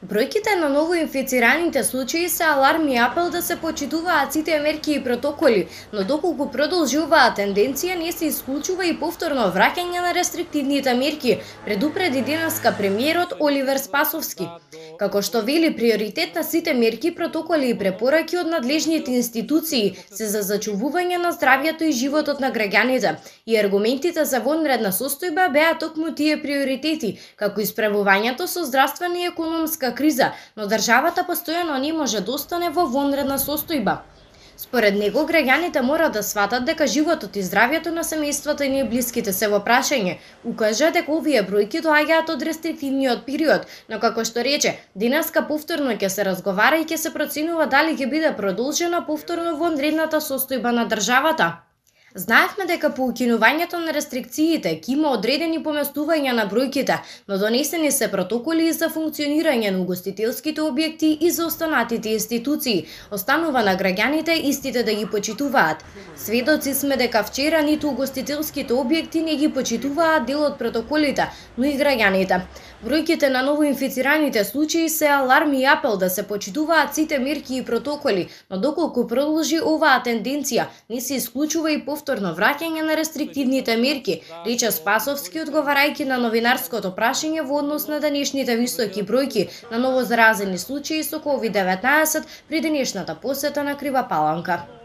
Бројките на новоинфицираните случаи се аларм и апел да се почитуваат сите мерки и протоколи, но доколку продолжи оваа тенденција не се исклучува и повторно враќање на рестриктивните мерки, предупреди денеска премиерот Оливер Спасовски. Како што вели, приоритет на сите мерки, протоколи и препораки од надлежните институции се за зачувување на здравјето и животот на граѓаните, и аргументите за вонредна состојба беа токму тие приоритети, како исправувањето со здравствена и економска криза, но државата постојано не може да остане во вонредна состојба. Според него, граѓаните мора да сватат дека животот и здравјето на семејствата и блиските се во прашање. Укажа дека овие бројки доаѓаат од рестриктивниот период, но како што рече, денеска повторно ќе се разговара и ќе се проценува дали ќе биде продолжена повторно вонредната состојба на државата. Знаевме дека по укинувањето на рестрикциите ќе има одредени поместувања на бројките, но донесени се протоколи за функционирање на угостителските објекти и за останатите институции. Останува на граѓаните истите да ги почитуваат. Сведоци сме дека вчера ниту угостителските објекти не ги почитуваат дел од протоколите, но и граѓаните. Бројките на новоинфицираните случаи се аларм и апел да се почитуваат сите мерки и протоколи, но доколку продолжи оваа тенденција, не се исклучува и повторно враќање на рестриктивните мерки, рече Спасовски одговарајќи на новинарското прашање во однос на денешните високи бројки на новозаразени случаи со COVID-19 при денешната посета на Крива Паланка.